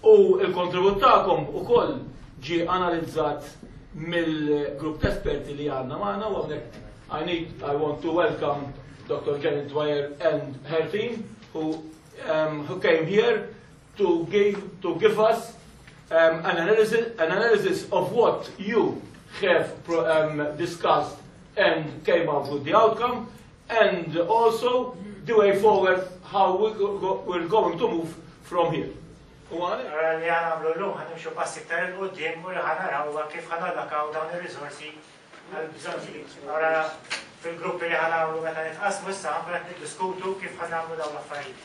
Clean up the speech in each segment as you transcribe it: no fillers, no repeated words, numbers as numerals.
U l-kontribut tagħkom ukoll ġie analizzat mill-grupp ta' esperti li għandna magħna u hawnhekk I need I want to welcome Dr. Janet Dwyer and her team who um, who came here to give to give us um, an analysis an analysis of what you have um, discussed and came up with the outcome and also the way forward how we go, we're going to move from here. U għalhekk. Ara li ħa nagħmlu llum ħa nimxu pass iktar 'il quddiem u li ħa naraw huwa kif ħa nallakaw dawn ir-riżorsi għall-bżonnijiet. Ara fil-gruppi li ħa nagħmlu meta nitqassmu issa ħa nkunu qed niddiskutu kif ħa nagħmlu dawn l-affarijiet.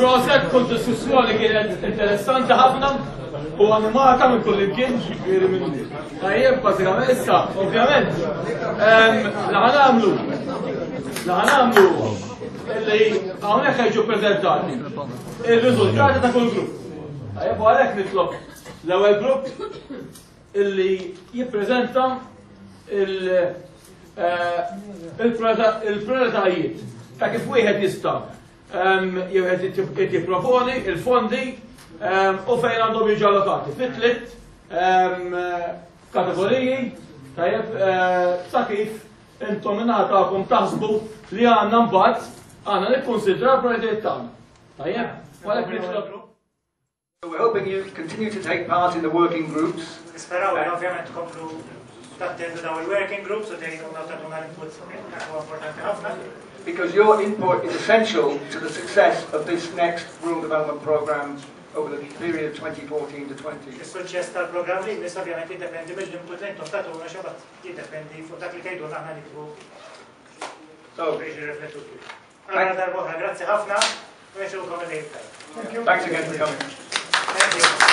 Proset, kull diskussjoni kienet interessanti ħafna u animata minn kull imkien, ġifieri minn tajjeb bażikament issa, ovvjament. Li ħanamlu, li ħanamlu li hawnhekk ħejġu preżentati ir-riżultati ta' kull grupp. Tajjeb u għalhekk nitlob l-ewwel grupp illi jippreżenta il-prioritajiet ta' kif wieħed jista' jew qed jipproponi il-fondi u fejn għandhom jiġu allokati. Fit-tliet kategoriji tajjeb sa kif intom ingħatakom taħsbu li għandna mbagħad għandna nikkunsidraw l-prioritajiet tagħna. Tajjeb, għalhekk nitlob. So we're hoping you continue to take part in the working groups. Nisperaw li ovvjament tkomplu tattendu daw il-working groups u tgħinuna u tagħtuna l-input dak huwa importanti ħafna. Because your input is essential to the success of this next Rural Development Programme over the period 2014 to 20. Is-suċċess tal-programm li jmiss ovvjament jiddependi mill-input li intom tagħtuna xi jiddependi fuq dak li tgħidulna aħna niktbu So, biex nirriflettu kif. Allura darb'oħra, grazzi ħafna u nixtiequlkom il-lejl tajjeb. Thanks again for coming. Thank you.